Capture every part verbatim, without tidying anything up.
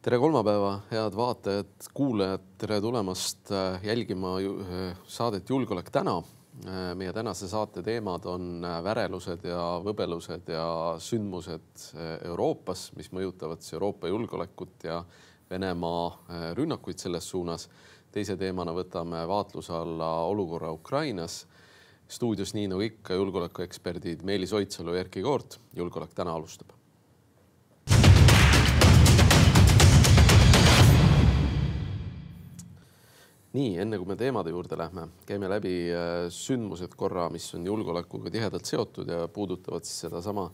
Tere kolmapäeva, head vaatajad, kuulajad, tere tulemast jälgima saadet Julgeolek täna. Meie tänase saate teemad on värelused ja võbelused ja sündmused Euroopas, mis mõjutavad Euroopa julgeolekut ja Venemaa rünnakuid selles suunas. Teise teemana võtame vaatluse alla olukorra Ukrainas. Stuudios nii nagu ikka julgeolekueksperdid Meelis Oidsalu ja Erkki Koort. Julgeolek täna alustab. Nii, enne kui me teemade juurde lähme, käime läbi sündmused korra, mis on julgeolekuga tihedalt seotud ja puudutavad siis seda sama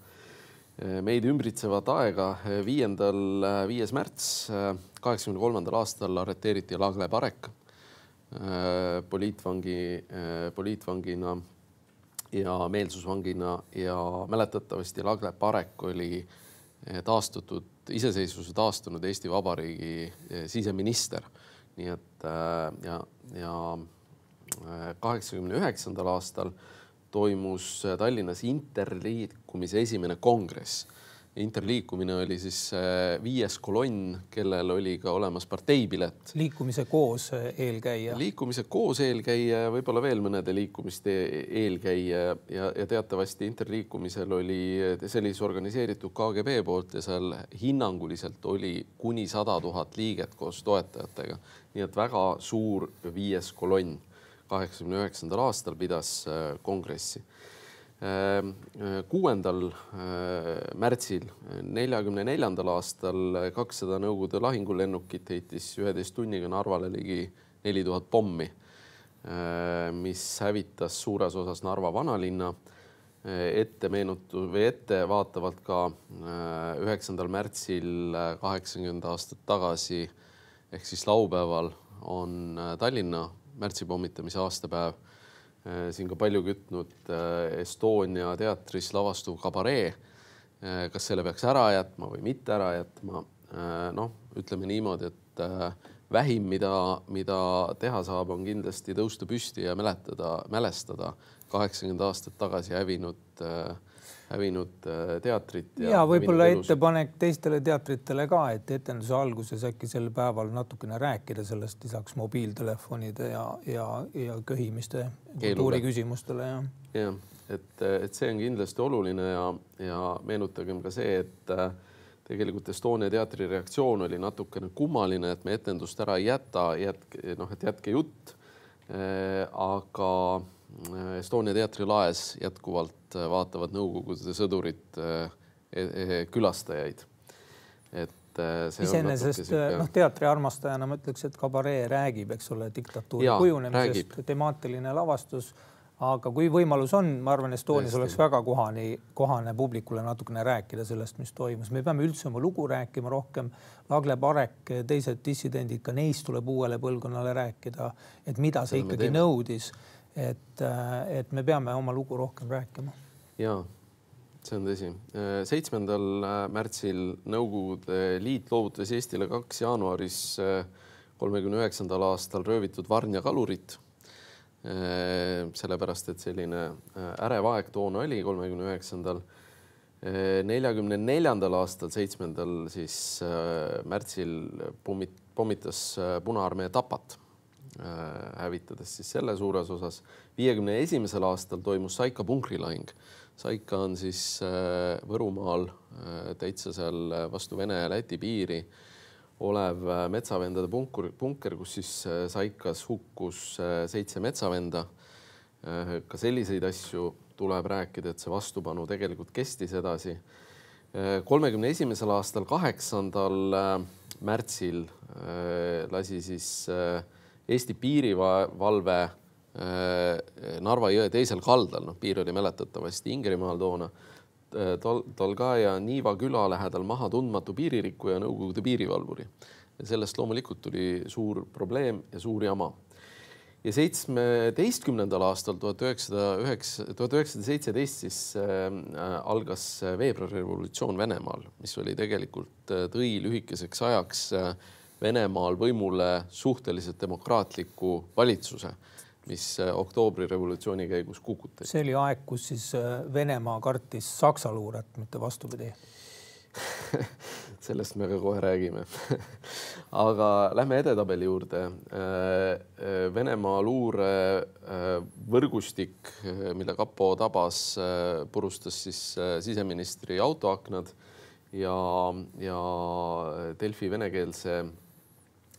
meid ümbritsevat aega. Viiendal, viies märts kaheksakümne kolmandal aastal arreteeriti Lagle Parek poliitvangi, poliitvangina ja meelsusvangina ja mäletatavasti Lagle Parek oli taastutud, iseseisvuse taastunud Eesti Vabariigi siseminister. Nii et ja, ja kaheksakümne üheksandal aastal toimus Tallinnas interliikumise esimene kongress. Interliikumine oli siis viies kolonn, kellel oli ka olemas parteipilet. Liikumise koos eelkäija. Liikumise koos eelkäija ja võib-olla veel mõnede liikumiste eelkäija ja, ja teatavasti interliikumisel oli sellise organiseeritud K G B poolt ja seal hinnanguliselt oli kuni sada tuhat liiget koos toetajatega. Nii et väga suur viies kolonn kaheksakümne üheksandal aastal pidas kongressi. Kuuendal märtsil neljakümne neljandal aastal kakssada Nõukogude lahingulennukit heitis üheteist tunniga Narvale ligi neli tuhat pommi, mis hävitas suures osas Narva vanalinna. Ette meenutu või ette vaatavalt ka üheksandal märtsil kaheksakümmend aastat tagasi ehk siis laupäeval on Tallinna märtsipommitamise aastapäev. Siin ka palju kütnud Estonia teatris lavastuv kabaree. Kas selle peaks ära jätma või mitte ära jätma? Noh, ütleme niimoodi, et vähim, mida, mida teha saab, on kindlasti tõusta püsti ja mäletada, mälestada kaheksakümmend aastat tagasi hävinud, hävinud teatrit. Ja, ja võib-olla ettepanek teistele teatritele ka, et etenduse alguses äkki sel päeval natukene rääkida sellest lisaks mobiiltelefonide ja, ja, ja köhimiste kultuuri küsimustele. Ja, ja et, et see on kindlasti oluline ja, ja meenutagem ka see, et tegelikult Estonia teatri reaktsioon oli natukene kummaline, et me etendust ära ei jäta, jätke, noh, et jätke jutt, aga Estonia teatri laes jätkuvalt vaatavad Nõukogude sõdurid külastajaid. Et see iseenesest noh, teatri armastajana ma ütleks, et kabaree räägib, eks ole, diktatuuri kujunemisest, temaatiline lavastus. Aga kui võimalus on, ma arvan, Estonias oleks väga kohane, kohane publikule natukene rääkida sellest, mis toimus. Me peame üldse oma lugu rääkima rohkem. Lagle Parek, teised dissidendid, ka neist tuleb uuele põlvkonnale rääkida, et mida see ikkagi nõudis. Et, et me peame oma lugu rohkem rääkima. Jaa, see on tõsi. seitsmendal märtsil Nõukogude Liit loovutas Eestile kaks jaanuaris kolmekümne üheksandal aastal röövitud Varnja kalurit. Sellepärast, et selline ärev aeg toona oli kolmekümne üheksandal. neljakümne neljandal aastal, seitsmendal siis märtsil pommitas Punaarmee Tapat, hävitades siis selle suures osas. viiekümne esimesel aastal toimus Saika punkrilahing. Saika on siis Võrumaal täitsa seal vastu Vene ja Läti piiri olev metsavendade bunker, bunker, kus siis Saikas hukkus seitse metsavenda. Ka selliseid asju tuleb rääkida, et see vastupanu tegelikult kestis edasi. kolmekümne esimesel aastal, kaheksandal märtsil lasi siis Eesti piirivalve Narva jõe teisel kaldal, no piir oli mäletatavasti Ingerimaal toona, Tolgaja Niiva küla lähedal maha tundmatu piiririkku ja Nõukogude piirivalvuri. Ja sellest loomulikult tuli suur probleem ja suur jama. Ja seitsmeteistkümnendal aastal tuhat üheksasada seitseteist siis algas veebruarirevolutsioon Venemaal, mis oli tegelikult tõi lühikeseks ajaks Venemaal võimule suhteliselt demokraatliku valitsuse, mis oktoobri revolutsiooni käigus kukutati. See oli aeg, kus siis Venemaa kartis Saksa luuret, mitte vastupidi. sellest me ka kohe räägime. Aga lähme edetabeli juurde. Venemaa luure võrgustik, mille kapo tabas, purustas siis siseministri autoaknad ja, ja Delfi venekeelse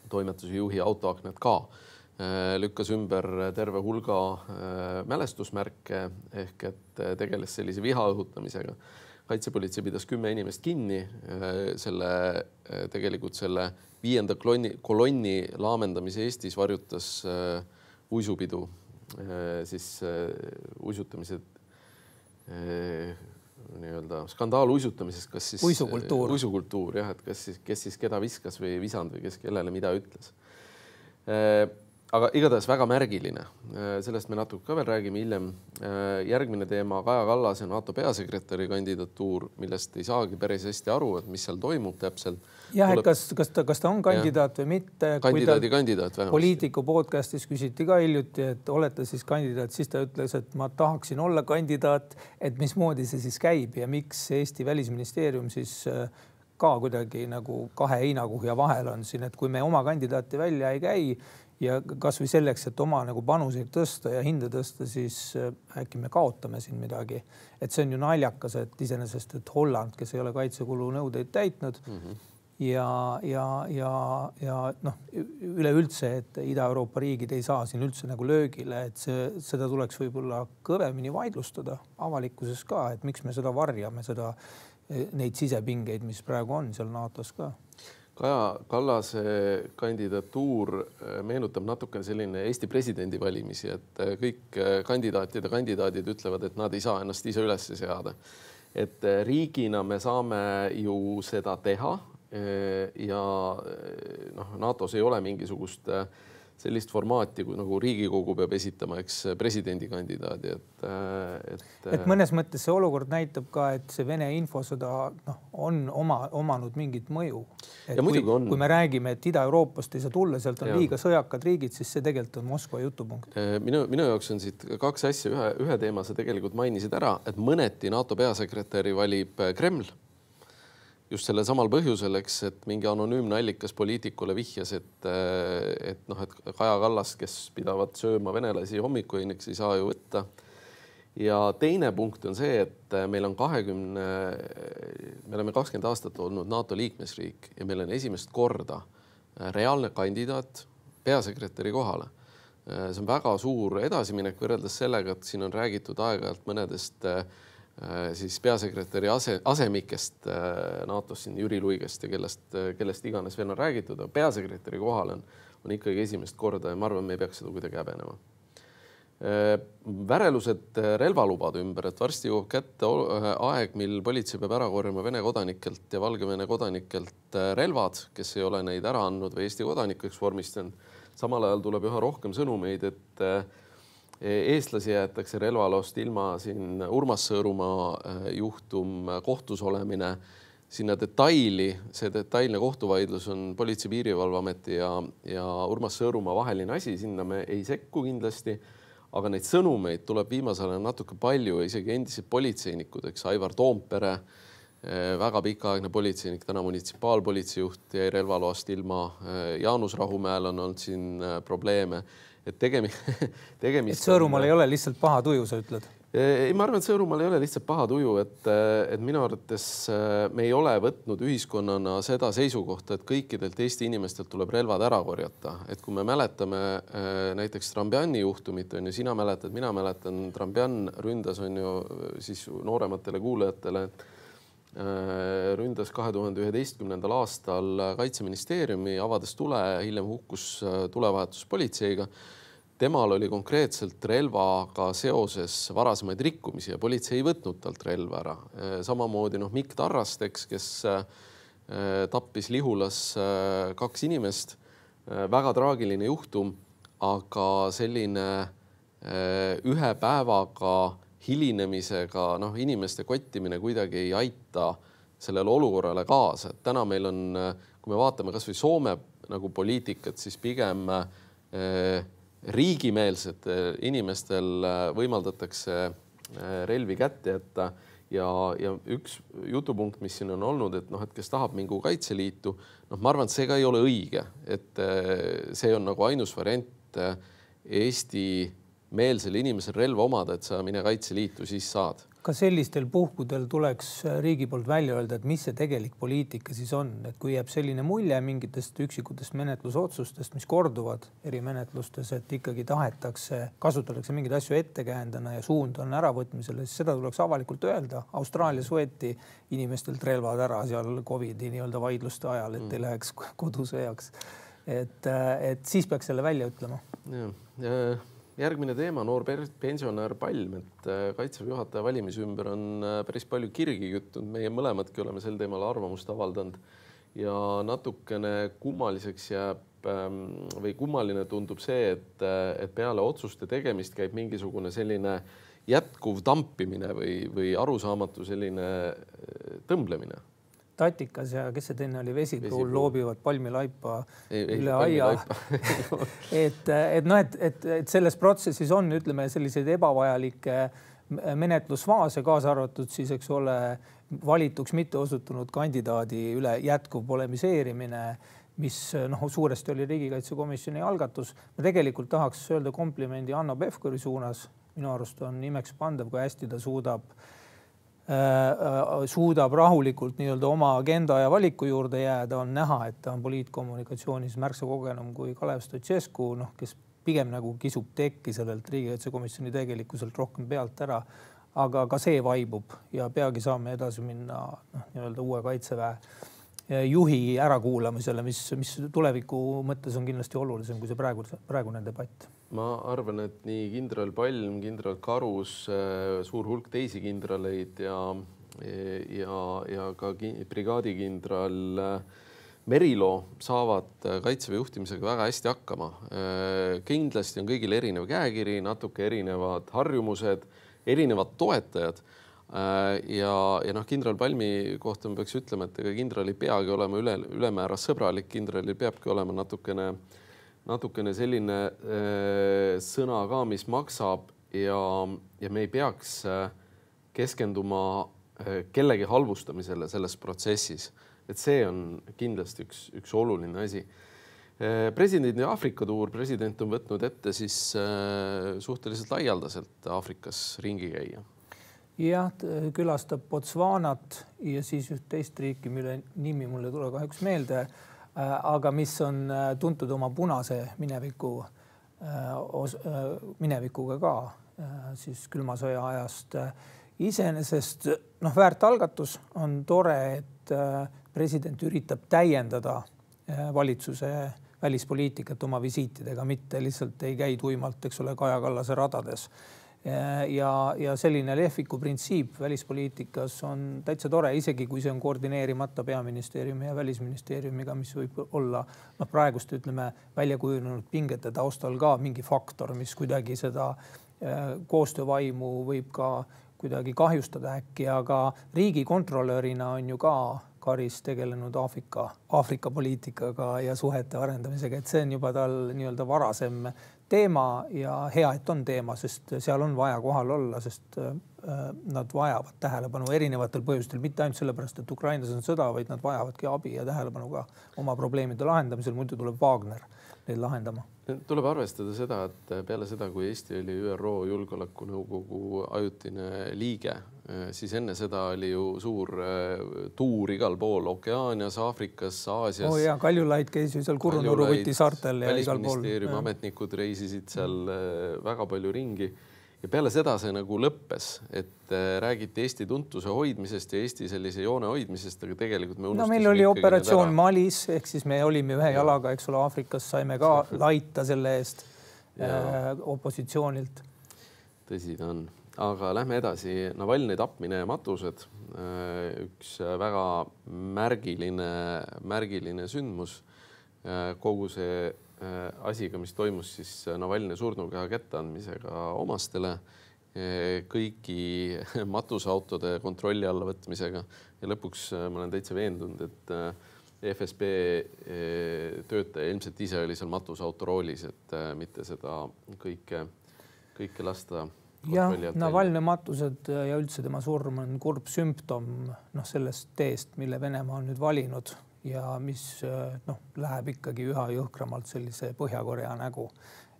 toimetuse juhi autoaknad ka. Lükkas ümber terve hulga mälestusmärke ehk et tegeles sellise viha õhutamisega. Kaitsepolitsei pidas kümme inimest kinni. Selle, tegelikult selle viienda kolonni, kolonni laamendamise Eestis varjutas uisupidu, siis uisutamised, nii-öelda skandaal uisutamisest, kas siis uisukultuur, uisukultuur jah, et kas siis, kes siis keda viskas või visand või kes kellele mida ütles. Aga igatahes väga märgiline. Sellest me natuke ka veel räägime hiljem. Järgmine teema Kaja Kallase NATO peasekretäri kandidatuur, millest ei saagi päris hästi aru, et mis seal toimub täpselt. Jah, et kas, kas, ta, kas ta on kandidaat ja. või mitte. Kandidaadi kandidaat vähemasti. Poliitiku podcastis küsiti ka hiljuti, et olete siis kandidaat, siis ta ütles, et ma tahaksin olla kandidaat, et mismoodi see siis käib ja miks Eesti Välisministeerium siis ka kuidagi nagu kahe heinakuhja vahel on siin, et kui me oma kandidaati välja ei käi, ja kas või selleks, et oma nagu panuseid tõsta ja hinde tõsta, siis äkki me kaotame siin midagi. Et see on ju naljakas, et iseenesest, et Holland, kes ei ole kaitsekulu nõudeid täitnud mm -hmm. ja, ja, ja, ja noh, üleüldse, et Ida-Euroopa riigid ei saa siin üldse nagu löögile, et see, seda tuleks võib-olla kõvemini vaidlustada avalikkuses ka, et miks me seda varjame, seda, neid sisepingeid, mis praegu on seal NATOs ka. Kaja Kallase kandidatuur meenutab natukene selline Eesti presidendi valimisi, et kõik kandidaatid ja kandidaadid ütlevad, et nad ei saa ennast ise üles seada. Et riigina me saame ju seda teha ja noh, NATOs ei ole mingisugust sellist formaati, kui nagu Riigikogu peab esitama, eks presidendikandidaadi. Et, et... et mõnes mõttes see olukord näitab ka, et see Vene infosõda no, on oma, omanud mingit mõju. Et kui, kui me räägime, et Ida-Euroopast ei saa tulla, sealt on ja. liiga sõjakad riigid, siis see tegelikult on Moskva jutupunkt. Minu, minu jaoks on siit kaks asja. Ühe, ühe teema sa tegelikult mainisid ära, et mõneti NATO peasekretäri valib Kreml. Just selle samal põhjusel, eks, et mingi anonüümne allikas poliitikule vihjas, et, et, noh, et Kaja Kallas, kes pidavad sööma venelasi hommikuineks, ei saa ju võtta. Ja teine punkt on see, et meil on kahekümne, me oleme kakskümmend aastat olnud NATO liikmesriik ja meil on esimest korda reaalne kandidaat peasekretäri kohale. See on väga suur edasiminek võrreldes sellega, et siin on räägitud aeg-ajalt mõnedest siis peasekretäri ase, asemikest NATOs siin Jüri Luigest ja kellest, kellest iganes veel on räägitud, aga peasekretäri kohal on, on ikkagi esimest korda ja ma arvan, me ei peaks seda kuidagi häbenema. Värelused relvalubade ümber, et varsti jõuab kätte aeg, mil politsei peab ära korjama Vene kodanikelt ja Valgevene kodanikelt relvad, kes ei ole neid ära andnud või Eesti kodanikeks vormistanud. Samal ajal tuleb üha rohkem sõnumeid, et eestlasi jäetakse relvalost ilma, siin Urmas Sõõrumaa juhtum, kohtus olemine, sinna detaili, see detailne kohtuvaidlus on Politsei- ja Piirivalveameti ja, ja Urmas Sõõrumaa vaheline asi, sinna me ei sekku kindlasti, aga neid sõnumeid tuleb viimasel ajal natuke palju, isegi endised politseinikud, eks Aivar Toompere, väga pikaaegne politseinik, täna munitsipaalpolitseijuht jäi relvaloast ilma, Jaanus Rahumäel on olnud siin probleeme. Et tegemi, tegemist... Et Sõõrumaal ei ole lihtsalt paha tuju, sa ütled? Ei, ma arvan, et Sõõrumaal ei ole lihtsalt paha tuju, et, et minu arvates me ei ole võtnud ühiskonnana seda seisukohta, et kõikidelt Eesti inimestelt tuleb relvad ära korjata. Et kui me mäletame näiteks Trambjani juhtumit, on ju, sina mäletad, mina mäletan, Trambjan ründas on ju siis noorematele kuulajatele, ründas kahe tuhande üheteistkümnendal aastal Kaitseministeeriumi, avades tule, hiljem hukkus tulevahetus politseiga. Temal oli konkreetselt relvaga seoses varasemaid rikkumisi ja politsei ei võtnud talt relva ära. Samamoodi noh, Mikk Tarrasteks, kes tappis Lihulas kaks inimest. Väga traagiline juhtum, aga selline ühe päevaga hilinemisega noh, inimeste kottimine kuidagi ei aita sellele olukorrale kaasa. Et täna meil on, kui me vaatame kas või Soome nagu poliitikat, siis pigem riigimeelsed inimestel võimaldatakse relvi kätte jätta ja, ja üks jutupunkt, mis siin on olnud, et noh, et kes tahab mingu Kaitseliitu, noh, ma arvan, et see ka ei ole õige, et see on nagu ainus variant Eesti meelsel inimesel relva omada, et sa mine Kaitseliitu, siis saad. Ka sellistel puhkudel tuleks riigi poolt välja öelda, et mis see tegelik poliitika siis on, et kui jääb selline mulje mingitest üksikutest menetlusotsustest, mis korduvad eri menetlustes, et ikkagi tahetakse, kasutatakse mingeid asju ettekäändena ja suund on äravõtmisele, siis seda tuleks avalikult öelda. Austraalias võeti inimestelt relvad ära seal Covidi nii-öelda vaidluste ajal, et ei läheks kodusõjaks. Et, et siis peaks selle välja ütlema. Ja, ja. Järgmine teema, noor pensionär Palm, et Kaitseväe juhataja valimise ümber on päris palju kirgi küttunud. Meie mõlemadki oleme sel teemal arvamust avaldanud ja natukene kummaliseks jääb või kummaline tundub see, et, et peale otsuste tegemist käib mingisugune selline jätkuv tampimine või, või arusaamatu selline tõmblemine. Tatikas ja kes see teine oli, Vesipruul loobivad palmilaipa ei, ei, üle aia. et, et, no, et, et, et selles protsessis on, ütleme, selliseid ebavajalikke menetlusfaase, kaasa arvatud siis, eks ole, valituks mitte osutunud kandidaadi üle jätkuv polemiseerimine, mis noh, suuresti oli riigikaitsekomisjoni algatus. Ma tegelikult tahaks öelda komplimendi Hanno Pevkuri suunas. Minu arust on imeks pandav, kui hästi ta suudab suudab rahulikult nii-öelda oma agenda ja valiku juurde jääda, on näha, et ta on poliitkommunikatsioonis märksa kogenum kui Kalev Stoicescu, noh, kes pigem nagu kisub tekki sellelt riigikaitsekomisjoni tegelikkuselt rohkem pealt ära, aga ka see vaibub ja peagi saame edasi minna noh, nii-öelda uue Kaitseväe juhi ärakuulamisele, mis, mis tuleviku mõttes on kindlasti olulisem kui see praegu, praegune debatt. Ma arvan, et nii kindral Palm, kindral Karus, suur hulk teisi kindraleid ja, ja, ja ka brigaadikindral Merilo saavad Kaitseväe juhtimisega väga hästi hakkama. Kindlasti on kõigil erinev käekiri, natuke erinevad harjumused, erinevad toetajad. Ja, ja noh, kindral Palmi kohta ma peaks ütlema, et ega kindral ei peagi olema üle, ülemääras sõbralik, kindralil peabki olema natukene natukene selline äh, sõna ka, mis maksab ja, ja me ei peaks äh, keskenduma äh, kellegi halvustamisele selles protsessis. Et see on kindlasti üks, üks oluline asi. Äh, presidendi Aafrika tuur, president on võtnud ette siis äh, suhteliselt laialdaselt Aafrikas ringi käia. Jah, külastab Botswanat ja siis üht teist riiki, mille nimi mulle tule kahjuks meelde, aga mis on tuntud oma punase mineviku, minevikuga ka siis külmasõja ajast. Iseenesest noh, väärt algatus on tore, et president üritab täiendada valitsuse välispoliitikat oma visiitidega, mitte lihtsalt ei käi tuimalt, eks ole, Kaja Kallase radades. Ja, ja selline lehviku printsiip välispoliitikas on täitsa tore, isegi kui see on koordineerimata peaministeeriumi ja välisministeeriumiga, mis võib olla no, praegust ütleme, välja kujunenud pingete taustal ka mingi faktor, mis kuidagi seda koostöövaimu võib ka kuidagi kahjustada äkki, aga riigikontrolörina on ju ka Karis tegelenud Aafrika, Aafrika poliitikaga ja suhete arendamisega, et see on juba tal nii-öelda varasem teema ja hea, et on teema, sest seal on vaja kohal olla, sest nad vajavad tähelepanu erinevatel põhjustel, mitte ainult sellepärast, et Ukrainas on sõda, vaid nad vajavadki abi ja tähelepanu ka oma probleemide lahendamisel, muidu tuleb Wagner neid lahendama. Tuleb arvestada seda, et peale seda, kui Eesti oli Ü R O Julgeolekunõukogu ajutine liige, siis enne seda oli ju suur tuur igal pool, Okeaanias, Aafrikas, Aasias. Oh ja, Kaljulaid käis ju seal Kurunuru võtti saartel ja igal pool. Välisministeeriumi ametnikud reisisid seal väga palju ringi. Ja peale seda see nagu lõppes, et räägiti Eesti tuntuse hoidmisest ja Eesti sellise joone hoidmisest, aga tegelikult me unustasime. No meil oli operatsioon Malis, ehk siis me olime ühe ja. jalaga, eks ole, Aafrikas saime ka laita selle eest ja. opositsioonilt. Tõsi ta on. Aga lähme edasi. Navalnõi tapmine ja matused. Üks väga märgiline, märgiline sündmus. Kogu see asiga, mis toimus siis Navalnõi surnukeha kätteandmisega omastele, kõigi matusautode kontrolli alla võtmisega ja lõpuks ma olen täitsa veendunud, et F S B töötaja ilmselt ise oli seal matusauto roolis, et mitte seda kõike, kõike lasta jah, Navalnõi matused ja üldse tema surm on kurb sümptom noh, sellest teest, mille Venemaa on nüüd valinud ja mis noh, läheb ikkagi üha jõhkramalt sellise Põhja-Korea nägu.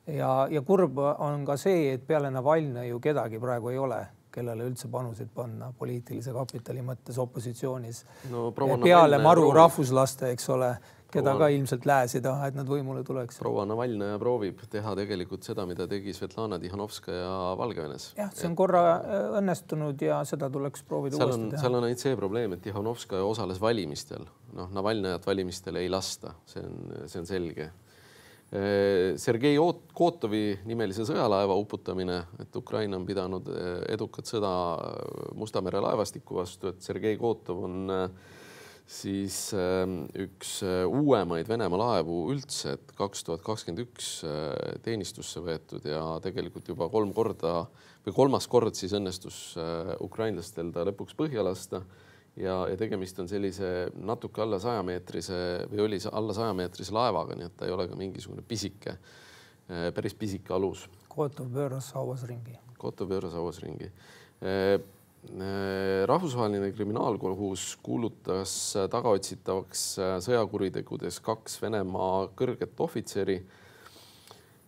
Ja, ja kurb on ka see, et peale Navalnõi ju kedagi praegu ei ole, kellele üldse panuseid panna poliitilise kapitali mõttes opositsioonis. No, peale maru proovib. Rahvuslaste, eks ole, keda proua... ka ilmselt lääs ei taha, et nad võimule tuleks. Proua Navalnõi proovib teha tegelikult seda, mida tegi Svetlana Tihanovskaja Valgevenes. Jah, see on korra õnnestunud ja seda tuleks proovida seal uuesti on, teha. Seal on ainult see probleem, et Tihanovskaja osales valimistel. Noh, Navalnõjat valimistele ei lasta, see on, see on selge. Sergei Kotovi nimelise sõjalaeva uputamine, et Ukraina on pidanud edukat sõda Musta mere laevastiku vastu, et Sergei Kotov on siis üks uuemaid Venemaa laevu üldse, et kaks tuhat kakskümmend üks teenistusse võetud ja tegelikult juba kolm korda või kolmas kord siis õnnestus ukrainlastel ta lõpuks põhja lasta. Ja, ja tegemist on sellise natuke alla saja meetrise või oli alla saja meetrise laevaga, nii et ta ei ole ka mingisugune pisike, päris pisike alus. Kotov pööras hauas ringi. Kotov pööras hauas ringi. Rahvusvaheline kriminaalkohus kuulutas tagaotsitavaks sõjakuritegudes kaks Venemaa kõrget ohvitseri.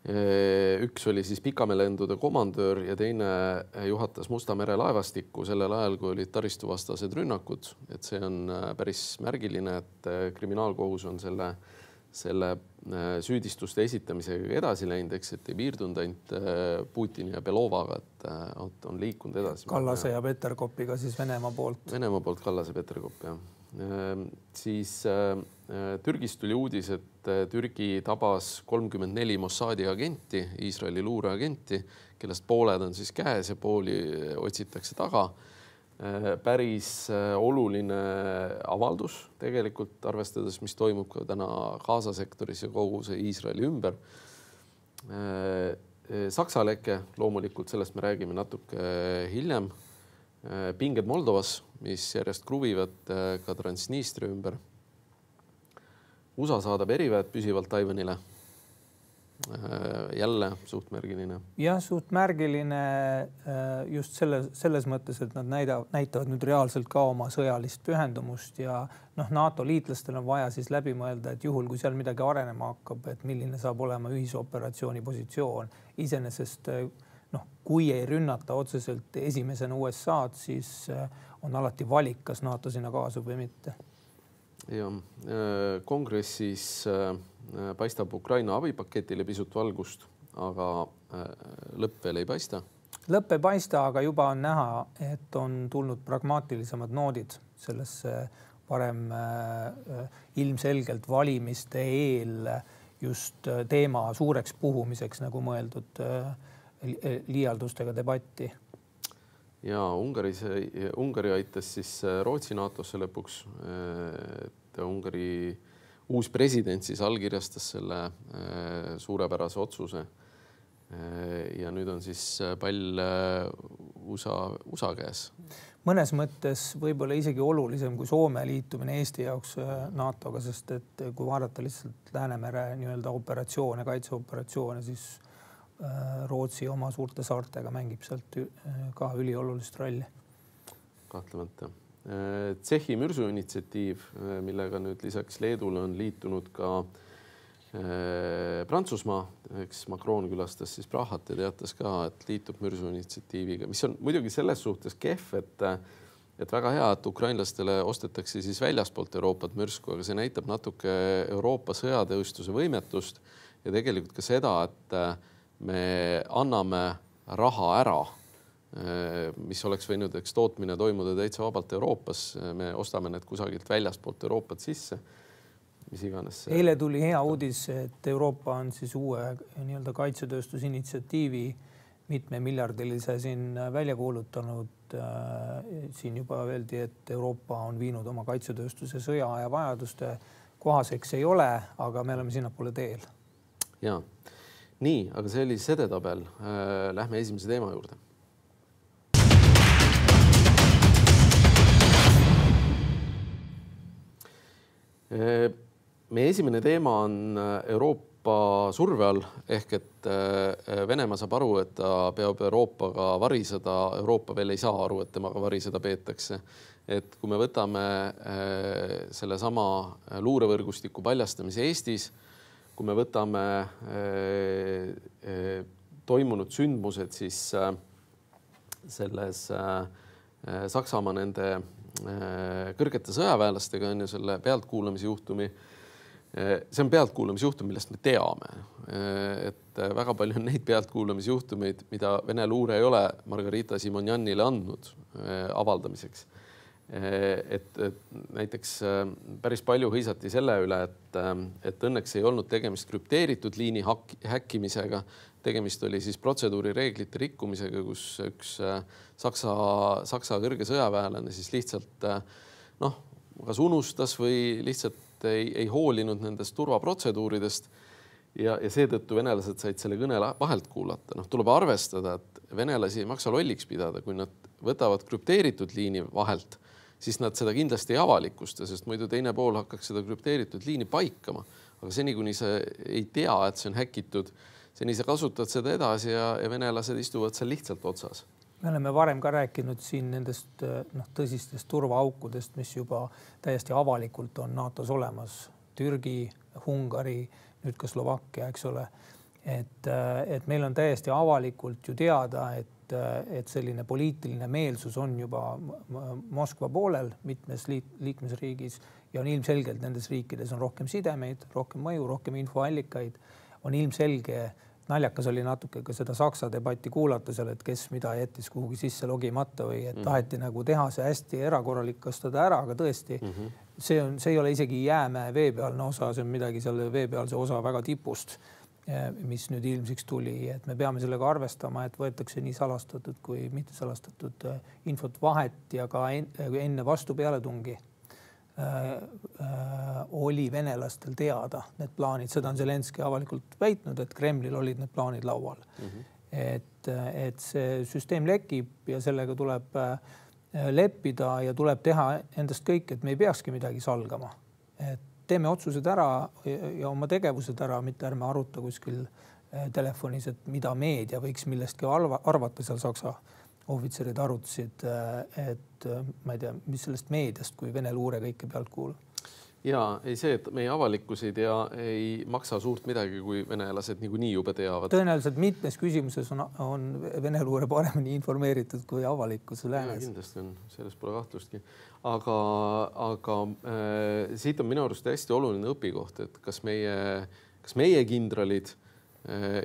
Üks oli siis pikameelendude komandöör ja teine juhatas Musta mere laevastikku sellel ajal, kui olid taristuvastased rünnakud. Et see on päris märgiline, et kriminaalkohus on selle, selle süüdistuste esitamisega edasi läinud, eks, et ei piirdunud ainult Putini ja Belovaga, et on liikunud edasi. Kallase ja Peterkopiga siis Venemaa poolt. Venemaa poolt Kallase Peterkop, jah. Siis Türgist tuli uudis, et Türgi tabas kolmkümmend neli Mossadi agenti, Iisraeli luureagenti, kellest pooled on siis käes ja pooli otsitakse taga. Päris oluline avaldus tegelikult, arvestades, mis toimub ka täna Gaza sektoris ja kogu see Iisraeli ümber. Saksa leke, loomulikult sellest me räägime natuke hiljem. Pinged Moldovas, mis järjest kruvivad ka Transnistria ümber. U S A saadab eriväed püsivalt Taiwanile. Jälle suht märgiline. Jah, suht märgiline just selles, selles mõttes, et nad näida, näitavad nüüd reaalselt ka oma sõjalist pühendumust ja noh, NATO liitlastel on vaja siis läbi mõelda, et juhul, kui seal midagi arenema hakkab, et milline saab olema ühisoperatsiooni positsioon. Iseenesest noh, kui ei rünnata otseselt esimesena U S A-d, siis on alati valik, kas NATO sinna kaasub või mitte. Ja, kongressis paistab Ukraina abipaketile pisut valgust, aga lõpp veel ei paista. Lõpp ei paista, aga juba on näha, et on tulnud pragmaatilisemad noodid sellesse varem ilmselgelt valimiste eel just teema suureks puhumiseks, nagu mõeldud liialdustega debatti. Ja Ungaris, Ungari aitas siis Rootsi NATOsse lõpuks, et Ungari uus president siis allkirjastas selle suurepärase otsuse. Ja nüüd on siis pall U S A, U S A käes. Mõnes mõttes võib-olla isegi olulisem kui Soome liitumine Eesti jaoks NATOga, sest et kui vaadata lihtsalt Läänemere nii-öelda operatsioone, kaitseoperatsioone, siis Rootsi oma suurte saartega mängib sealt ka üliolulist rolli. Kahtlemata. Tšehhi mürsuinitsiatiiv, millega nüüd lisaks Leedule on liitunud ka Prantsusmaa, eks Macron külastas siis Prahat ja teatas ka, et liitub mürsuinitsiatiiviga, mis on muidugi selles suhtes kehv, et, et väga hea, et ukrainlastele ostetakse siis väljaspoolt Euroopat mürsku, aga see näitab natuke Euroopa sõjatööstuse võimetust ja tegelikult ka seda, et me anname raha ära, mis oleks võinud eks tootmine toimuda täitsa vabalt Euroopas. Me ostame need kusagilt väljaspoolt Euroopat sisse, mis iganes. Eile tuli hea uudis, et Euroopa on siis uue nii-öelda kaitsetööstusinitsiatiivi mitme miljardilise siin välja kuulutanud. Siin juba öeldi, et Euroopa on viinud oma kaitsetööstuse sõja ja vajaduste kohaseks ei ole, aga me oleme sinnapoole teel. Jaa. Nii, aga see oli sedetabel. Lähme esimese teema juurde. Meie esimene teema on Euroopa Euroopa surve all ehk et Venemaa saab aru, et ta peab Euroopaga variseda. Euroopa veel ei saa aru, et temaga variseda peetakse. Et kui me võtame selle sama luurevõrgustiku paljastamise Eestis, kui me võtame toimunud sündmused, siis selles Saksamaa nende kõrgete sõjaväelastega on ju selle pealtkuulamise juhtumi. See on pealtkuulamise juhtum, millest me teame. Et väga palju on neid pealtkuulamise juhtumeid, mida Vene luure ei ole Margarita Simonjanile andnud avaldamiseks. Et, et näiteks päris palju hõisati selle üle, et, et õnneks ei olnud tegemist krüpteeritud liini häkkimisega. Tegemist oli siis protseduurireeglite rikkumisega, kus üks Saksa, Saksa kõrge sõjaväelane siis lihtsalt noh, kas unustas või lihtsalt ei, ei hoolinud nendest turvaprotseduuridest ja, ja seetõttu venelased said selle kõne vahelt kuulata. Noh, tuleb arvestada, et venelasi ei maksa lolliks pidada, kui nad võtavad krüpteeritud liini vahelt, siis nad seda kindlasti ei avalikusta, sest muidu teine pool hakkaks seda krüpteeritud liini paikama. Aga seni, kuni sa ei tea, et see on häkitud, seni sa kasutad seda edasi ja, ja venelased istuvad seal lihtsalt otsas. Me oleme varem ka rääkinud siin nendest noh, tõsistest turvaaukudest, mis juba täiesti avalikult on NATOs olemas. Türgi, Ungari, nüüd ka Slovakkia, eks ole. Et, et meil on täiesti avalikult ju teada, et, et selline poliitiline meelsus on juba Moskva poolel mitmes liikmesriigis ja on ilmselgelt nendes riikides on rohkem sidemeid, rohkem mõju, rohkem infoallikaid. On ilmselge, naljakas oli natuke ka seda Saksa debatti kuulata seal, et kes mida jättis kuhugi sisse logimata või et taheti mm. nagu teha see hästi erakorralikastada ära, aga tõesti mm -hmm. see, on, see ei ole isegi jäämäe veepealne osa, see on midagi seal veepealse osa väga tipust, mis nüüd ilmsiks tuli, et me peame sellega arvestama, et võetakse nii salastatud kui mitte salastatud infot vahet ja ka enne vastu pealetungi Äh, äh, oli venelastel teada need plaanid, seda on Zelenski avalikult väitnud, et Kremlil olid need plaanid laual. Mm -hmm. et, et see süsteem lekib ja sellega tuleb äh, leppida ja tuleb teha endast kõik, et me ei peakski midagi salgama. Et teeme otsused ära ja, ja oma tegevused ära, mitte ärme aruta kuskil äh, telefonis, et mida meedia võiks millestki arvata seal Saksa ohvitserid arutasid, et ma ei tea, mis sellest meediast, kui Vene luure kõike pealt kuulab. Ja ei see, et meie avalikkus ei tea, ei maksa suurt midagi, kui venelased niikuinii juba teavad. Tõenäoliselt mitmes küsimuses on, on Vene luure paremini informeeritud kui avalikkus läänes. Ja, kindlasti on, sellest pole kahtlustki. Aga, aga äh, siit on minu arust hästi oluline õpikoht, et kas meie, kas meie kindralid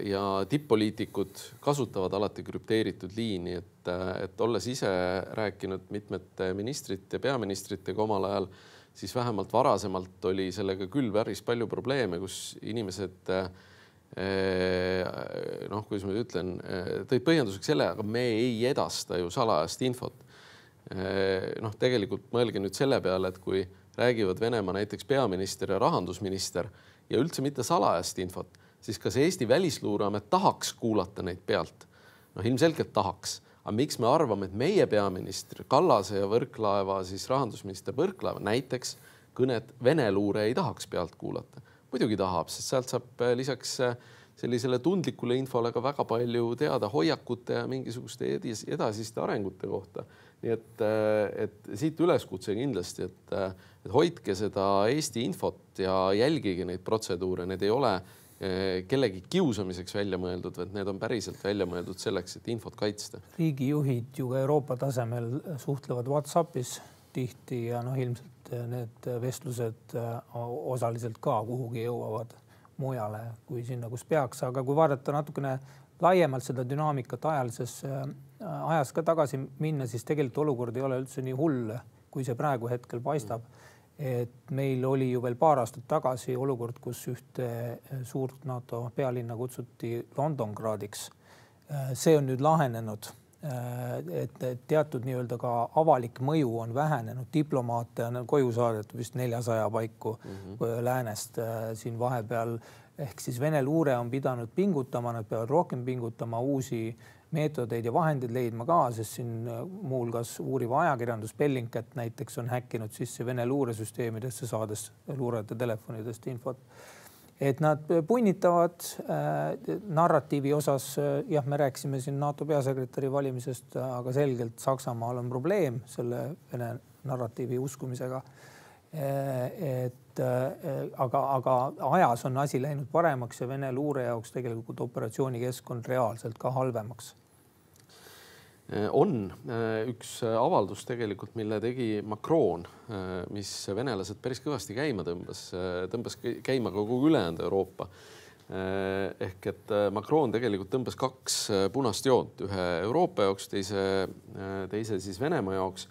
ja tipp-poliitikud kasutavad alati krüpteeritud liini, et, et olles ise rääkinud mitmete ministrite ja peaministritega omal ajal, siis vähemalt varasemalt oli sellega küll päris palju probleeme, kus inimesed, noh, kuidas ma ütlen, tõid põhjenduseks selle, aga me ei edasta ju salajast infot. Noh, tegelikult mõelge nüüd selle peale, et kui räägivad Venemaa näiteks peaminister ja rahandusminister ja üldse mitte salajast infot, siis kas Eesti välisluureamet tahaks kuulata neid pealt? No ilmselgelt tahaks. Aga miks me arvame, et meie peaminister Kallase ja Võrklaeva, siis rahandusminister Võrklaeva näiteks kõnet Vene luure ei tahaks pealt kuulata? Muidugi tahab, sest sealt saab lisaks sellisele tundlikule infole ka väga palju teada hoiakute ja mingisuguste edasiste arengute kohta. Nii et, et siit üleskutse kindlasti, et, et hoidke seda Eesti infot ja jälgige neid protseduure. Need ei ole kellegi kiusamiseks välja mõeldud, et need on päriselt välja mõeldud selleks, et infot kaitsta. Riigijuhid ju Euroopa tasemel suhtlevad WhatsAppis tihti ja noh, ilmselt need vestlused osaliselt ka kuhugi jõuavad mujale kui sinna, kus peaks. Aga kui vaadata natukene laiemalt seda dünaamikat ajalises ajas ka tagasi minna, siis tegelikult olukord ei ole üldse nii hull, kui see praegu hetkel paistab. Et meil oli ju veel paar aastat tagasi olukord, kus ühte suurt NATO pealinna kutsuti Londongradiks. See on nüüd lahenenud, et teatud nii-öelda ka avalik mõju on vähenenud. Diplomaate on koju saadetud vist neljasaja paiku mm-hmm. läänest siin vahepeal. Ehk siis Vene luure on pidanud pingutama, nad peavad rohkem pingutama, uusi meetodeid ja vahendid leidma ka, sest siin muuhulgas uuriva ajakirjandus Bellingcat näiteks on häkkinud sisse Vene luuresüsteemidesse saades luurajate telefonidest infot. et nad punnitavad äh, narratiivi osas. Jah, me rääkisime siin NATO peasekretäri valimisest, aga selgelt Saksamaal on probleem selle Vene narratiivi uskumisega. Et, aga, aga ajas on asi läinud paremaks ja Vene luure jaoks tegelikult operatsioonikeskkond reaalselt ka halvemaks. On üks avaldus tegelikult, mille tegi Macron, mis venelased päris kõvasti käima tõmbas, tõmbas käima kogu ülejäänud Euroopa. Ehk et Macron tegelikult tõmbas kaks punast joont, ühe Euroopa jaoks, teise, teise siis Venemaa jaoks.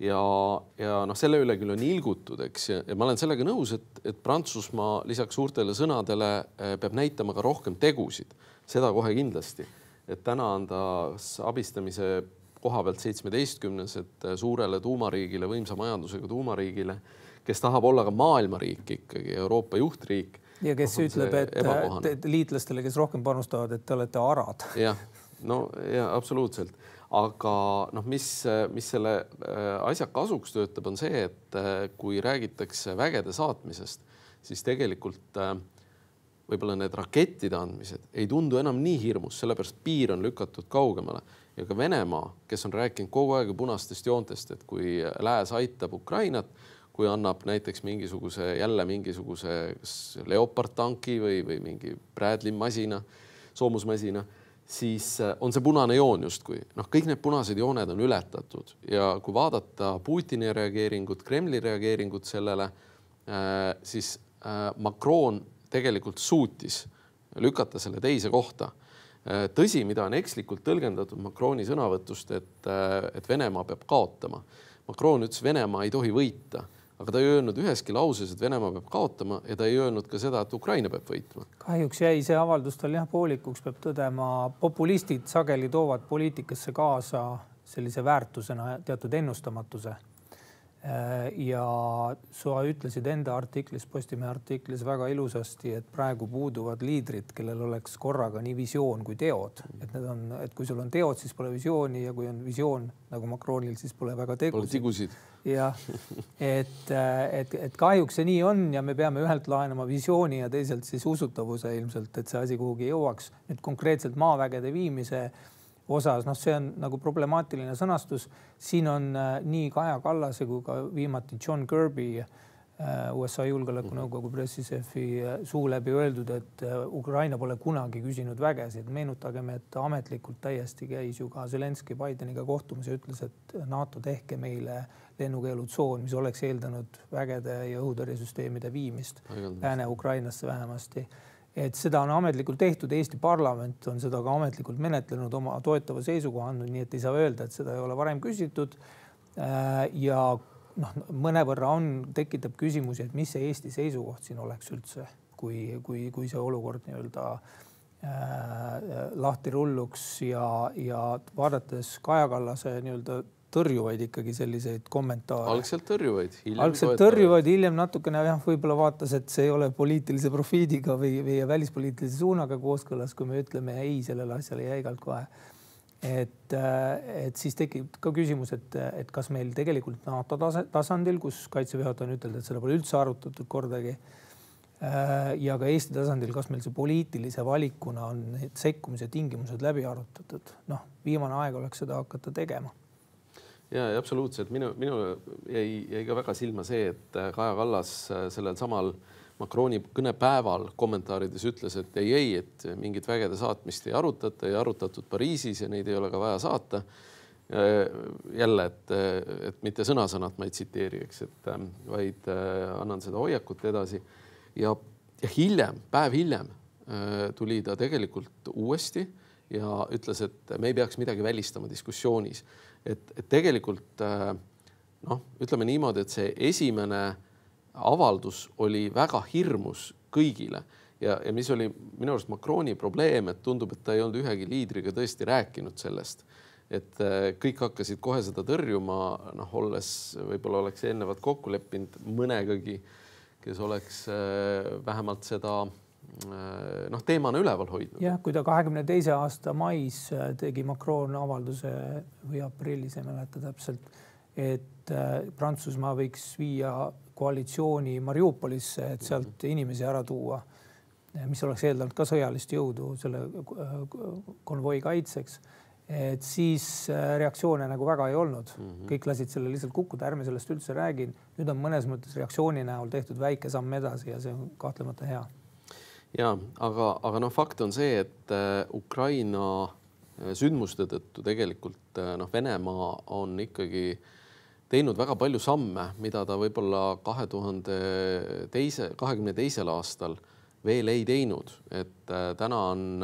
Ja, ja noh, selle üle küll on ilgutud, eks, ja ma olen sellega nõus, et, et Prantsusmaa lisaks suurtele sõnadele peab näitama ka rohkem tegusid. Seda kohe kindlasti. Et täna on ta abistamise koha pealt seitsmeteistkümnes, et suurele tuumariigile, võimsa majandusega tuumariigile, kes tahab olla ka maailmariik ikkagi, Euroopa juhtriik. Ja kes ütleb, et liitlastele, kes rohkem panustavad, et te olete arad. Jah, no ja absoluutselt. Aga noh, mis, mis selle asja kasuks töötab, on see, et kui räägitakse vägede saatmisest, siis tegelikult võib-olla need rakettide andmised ei tundu enam nii hirmus, sellepärast piir on lükatud kaugemale. Ja ka Venemaa, kes on rääkinud kogu aeg punastest joontest, et kui lääs aitab Ukrainat, kui annab näiteks mingisuguse, jälle mingisuguse Leopard tanki või, või mingi Bradley masina, soomusmasina, siis on see punane joon justkui. Noh, kõik need punased jooned on ületatud ja kui vaadata Putini reageeringut, Kremli reageeringut sellele, siis Macron tegelikult suutis lükata selle teise kohta. Tõsi, mida on ekslikult tõlgendatud Macroni sõnavõtust, et, et Venemaa peab kaotama. Macron ütles, Venemaa ei tohi võita, aga ta ei öelnud üheski lauses, et Venemaa peab kaotama ja ta ei öelnud ka seda, et Ukraina peab võitma. Kahjuks jäi see avaldus tal jah poolikuks, peab tõdema. Populistid sageli toovad poliitikasse kaasa sellise väärtusena teatud ennustamatuse. Ja sa ütlesid enda artiklis, Postimehe artiklis väga ilusasti, et praegu puuduvad liidrid, kellel oleks korraga nii visioon kui teod. Et, need on, et kui sul on teod, siis pole visiooni ja kui on visioon nagu Macronil, siis pole väga tegusid. tegusid. Ja, et, et, et kahjuks see nii on ja me peame ühelt laenama visiooni ja teiselt siis usutavuse ilmselt, et see asi kuhugi jõuaks. Nüüd konkreetselt maavägede viimise osas, noh, see on nagu problemaatiline sõnastus. Siin on nii Kaja Kallase kui ka viimati John Kirby, U S A julgeolekunõukogu pressisefi suu läbi öeldud, et Ukraina pole kunagi küsinud vägesid. Meenutagem, et ametlikult täiesti käis ju ka Zelenski Bideniga kohtumas ja ütles, et NATO tehke meile lennukeelutsoon, mis oleks eeldanud vägede ja õhutõrjesüsteemide viimist Lääne-Ukrainasse vähemasti. Et seda on ametlikult tehtud, Eesti parlament on seda ka ametlikult menetlenud, oma toetava seisukoha andnud, nii et ei saa öelda, et seda ei ole varem küsitud. Ja noh, mõnevõrra on, tekitab küsimusi, et mis see Eesti seisukoht siin oleks üldse, kui, kui, kui see olukord nii-öelda äh, lahti rulluks ja, ja vaadates Kaja Kallase nii-öelda tõrjuvaid ikkagi selliseid kommentaare. Algselt tõrjuvaid. Algselt tõrjuvaid, hiljem natukene jah, võib-olla vaatas, et see ei ole poliitilise profiidiga või, või välispoliitilise suunaga kooskõlas, kui me ütleme ei sellele asjale jäigalt kohe. Et, et siis tekib ka küsimus, et, et kas meil tegelikult NATO tasandil, kus kaitseväejuhataja on ütelnud, et seda pole üldse arutatud kordagi, ja ka Eesti tasandil, kas meil see poliitilise valikuna on need sekkumise tingimused läbi arutatud. Noh, viimane aeg oleks seda hakata tegema. Ja, ja absoluutselt. Minu, minu jäi, jäi ka väga silma see, et Kaja Kallas sellel samal Macroni kõnepäeval kommentaarides ütles, et ei, ei, et mingit vägede saatmist ei arutata, ei arutatud Pariisis ja neid ei ole ka vaja saata. Jälle, et, et mitte sõna-sõnat ma ei tsiteeriks, et vaid annan seda hoiakut edasi. Ja, ja hiljem, päev hiljem tuli ta tegelikult uuesti ja ütles, et me ei peaks midagi välistama diskussioonis. Et, et tegelikult noh, ütleme niimoodi, et see esimene avaldus oli väga hirmus kõigile ja, ja mis oli minu arust Macroni probleem, et tundub, et ta ei olnud ühegi liidriga tõesti rääkinud sellest, et kõik hakkasid kohe seda tõrjuma, noh, olles võib-olla oleks eelnevad kokku leppinud mõnegagi, kes oleks vähemalt seda noh, teemana üleval hoidnud. Jah, kui ta kahekümne teise aasta mais tegi Macron avalduse või aprillis, ei mäleta täpselt, et Prantsusmaa võiks viia koalitsiooni Mariupolisse, et sealt inimesi ära tuua, mis oleks eeldanud ka sõjalist jõudu selle konvoi kaitseks, et siis reaktsioone nagu väga ei olnud. Mm -hmm. Kõik lasid selle lihtsalt kukkuda, ärme sellest üldse räägin. Nüüd on mõnes mõttes reaktsiooni näol tehtud väike samm edasi ja see on kahtlemata hea. Ja, aga, aga noh, fakt on see, et Ukraina sündmuste tõttu tegelikult noh, Venemaa on ikkagi teinud väga palju samme, mida ta võib-olla kahe tuhande kahekümne teisel aastal veel ei teinud. Et täna on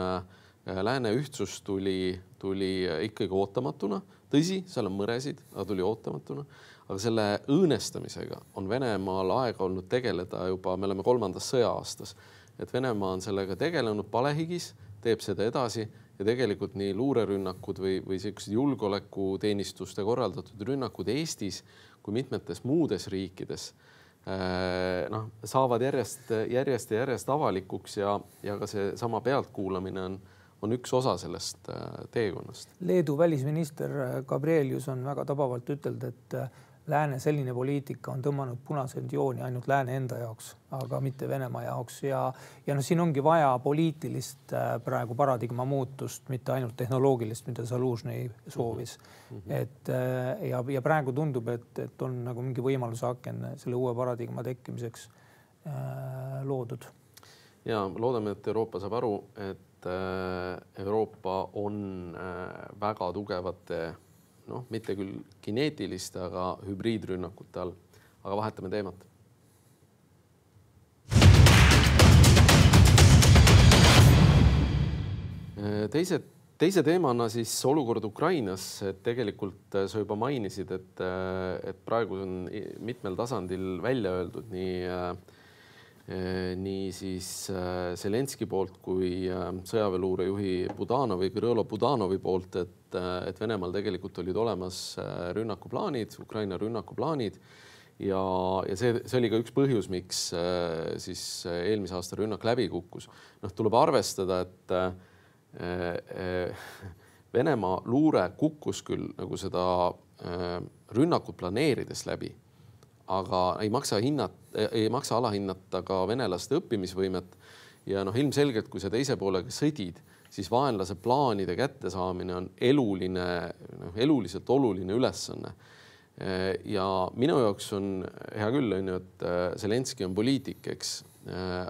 lääne ühtsus tuli, tuli ikkagi ootamatuna. Tõsi, seal on mõresid, aga tuli ootamatuna. Aga selle õõnestamisega on Venemaal aega olnud tegeleda juba, me oleme kolmandas sõja-aastas. Et Venemaa on sellega tegelenud palehigis, teeb seda edasi ja tegelikult nii luurerünnakud või, või sellised julgeolekuteenistuste korraldatud rünnakud Eestis kui mitmetes muudes riikides noh, saavad järjest, järjest ja järjest avalikuks ja, ja ka see sama pealtkuulamine on, on üks osa sellest teekonnast. Leedu välisminister Gabrielius on väga tabavalt ütelnud, et lääne selline poliitika on tõmmanud punaseid jooni ainult lääne enda jaoks, aga mitte Venemaa jaoks. Ja, ja no siin ongi vaja poliitilist praegu paradigma muutust, mitte ainult tehnoloogilist, mida Zalužny soovis. Mm-hmm. Et, ja, ja praegu tundub, et, et on nagu mingi võimaluse aken selle uue paradigma tekkimiseks äh, loodud. Ja loodame, et Euroopa saab aru, et Euroopa on väga tugevate noh, mitte küll kineetiliste, aga hübriidrünnakute all. Aga vahetame teemat. Teise, teise teemana siis olukord Ukrainas. Et tegelikult sa juba mainisid, et, et praegu on mitmel tasandil välja öeldud nii nii siis Zelenski poolt kui sõjaväeluurejuhi Budanovi, Kirõlo Budanovi poolt, et, et Venemaal tegelikult olid olemas rünnakuplaanid, Ukraina rünnakuplaanid ja, ja see, see oli ka üks põhjus, miks siis eelmise aasta rünnak läbi kukkus. Noh, tuleb arvestada, et Venemaa luure kukkus küll nagu seda rünnakut planeerides läbi, aga ei maksa hinnata, ei maksa alahinnata ka venelaste õppimisvõimet ja noh, ilmselgelt, kui sa teise poolega sõdid, siis vaenlase plaanide kättesaamine on eluline, noh, eluliselt oluline ülesanne. Ja minu jaoks on hea küll, et Zelenski on poliitik, eks,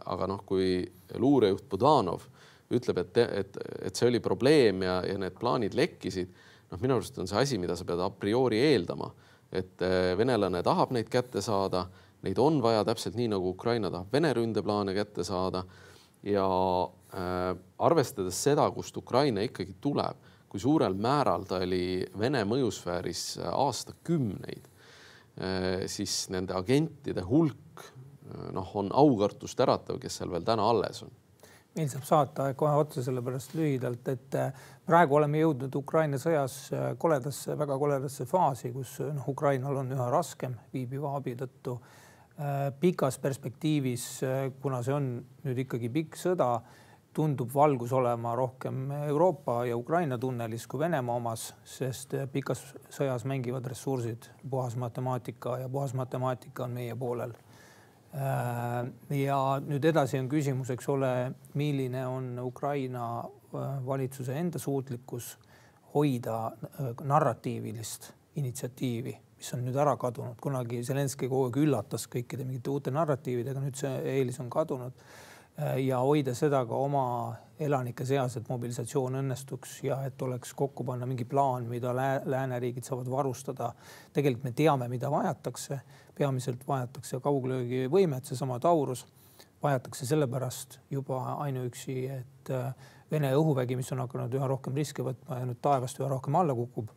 aga noh, kui luurejuht Budanov ütleb, et, et, et see oli probleem ja, ja need plaanid lekkisid, noh, minu arust on see asi, mida sa pead a priori eeldama. Et venelane tahab neid kätte saada, neid on vaja täpselt nii, nagu Ukraina tahab Vene ründeplaane kätte saada ja äh, arvestades seda, kust Ukraina ikkagi tuleb, kui suurel määral ta oli Vene mõjusfääris aastakümneid, äh, siis nende agentide hulk noh, on aukartust äratav, kes seal veel täna alles on. Meil saab saata kohe otsa sellepärast lühidalt, et praegu oleme jõudnud Ukraina sõjas koledasse, väga koledasse faasi, kus noh, Ukrainal on üha raskem viibiva abi tõttu. Pikas perspektiivis, kuna see on nüüd ikkagi pikk sõda, tundub valgus olema rohkem Euroopa ja Ukraina tunnelis kui Venemaa omas, sest pikas sõjas mängivad ressursid, puhas matemaatika ja puhas matemaatika on meie poolel. Ja nüüd edasi on küsimus, eks ole, milline on Ukraina valitsuse enda suutlikkus hoida narratiivilist initsiatiivi, mis on nüüd ära kadunud. Kunagi Zelenski kogu aeg üllatas kõikide mingite uute narratiividega, nüüd see eelis on kadunud ja hoida seda ka oma elanike seas, et mobilisatsioon õnnestuks ja et oleks kokku panna mingi plaan, mida lääneriigid saavad varustada. Tegelikult me teame, mida vajatakse. Peamiselt vajatakse kauglöögi võimet, seesama Taurus. Vajatakse sellepärast juba ainuüksi, et Vene õhuvägi, mis on hakanud üha rohkem riske võtma ja nüüd taevast üha rohkem alla kukub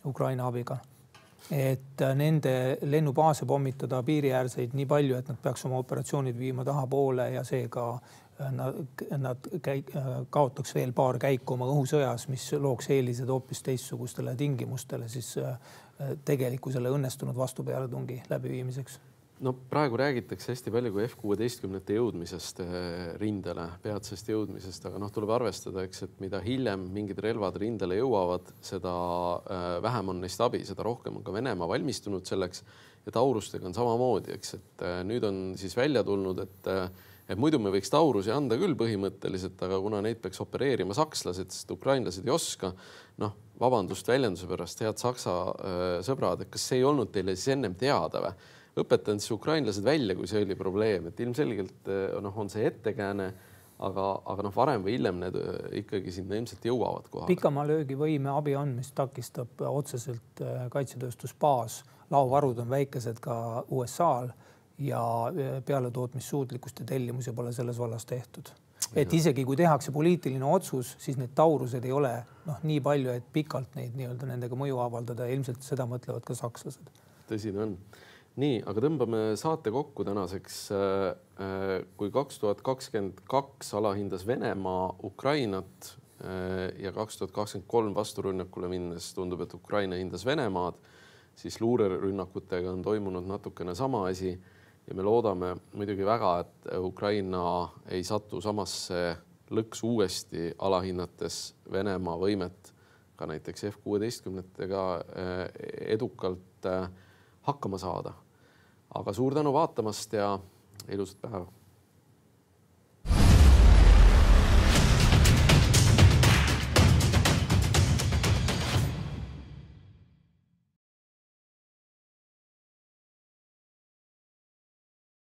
Ukraina abiga. Et nende lennubaase pommitada piiriäärseid nii palju, et nad peaks oma operatsioonid viima taha poole ja seega nad, nad käi, kaotaks veel paar käiku oma õhusõjas, mis looks eelised hoopis teistsugustele tingimustele siis tegelikkusele õnnestunud vastupealetungi läbiviimiseks. No praegu räägitakse hästi palju kui F kuusteist jõudmisest rindele, peatsest jõudmisest, aga noh, tuleb arvestada, eks, et mida hiljem mingid relvad rindele jõuavad, seda vähem on neist abi, seda rohkem on ka Venemaa valmistunud selleks ja Taurustega on samamoodi, eks, et nüüd on siis välja tulnud, et, et muidu me võiks taurusi anda küll põhimõtteliselt, aga kuna neid peaks opereerima sakslased, sest ukrainlased ei oska, noh, vabandust väljenduse pärast, head saksa äh, sõbrad, et kas see ei olnud teile siis ennem teada või? Õpetan siis ukrainlased välja, kui see oli probleem, et ilmselgelt noh, on see ettekääne, aga, aga noh, varem või hiljem need ikkagi sinna ilmselt jõuavad kohale. Pikamaa löögivõime abi andmist takistab otseselt kaitsetööstusbaas. Laovarud on väikesed ka U S A-l ja pealetootmissuutlikkust ja tellimusi pole selles vallas tehtud. Et isegi kui tehakse poliitiline otsus, siis need taurused ei ole noh, nii palju, et pikalt neid nii-öelda nendega mõju avaldada. Ilmselt seda mõtlevad ka sakslased. Tõsi on. Nii, aga tõmbame saate kokku tänaseks. Kui kaks tuhat kakskümmend kaks alahindas Venemaa Ukrainat ja kaks tuhat kakskümmend kolm vasturünnakule minnes tundub, et Ukraina hindas Venemaad, siis luurerünnakutega on toimunud natukene sama asi ja me loodame muidugi väga, et Ukraina ei satu samasse lõksu uuesti alahinnates Venemaa võimet ka näiteks F kuueteistkümnetega edukalt hakkama saada. Aga suur tänu vaatamast ja ilusat päeva!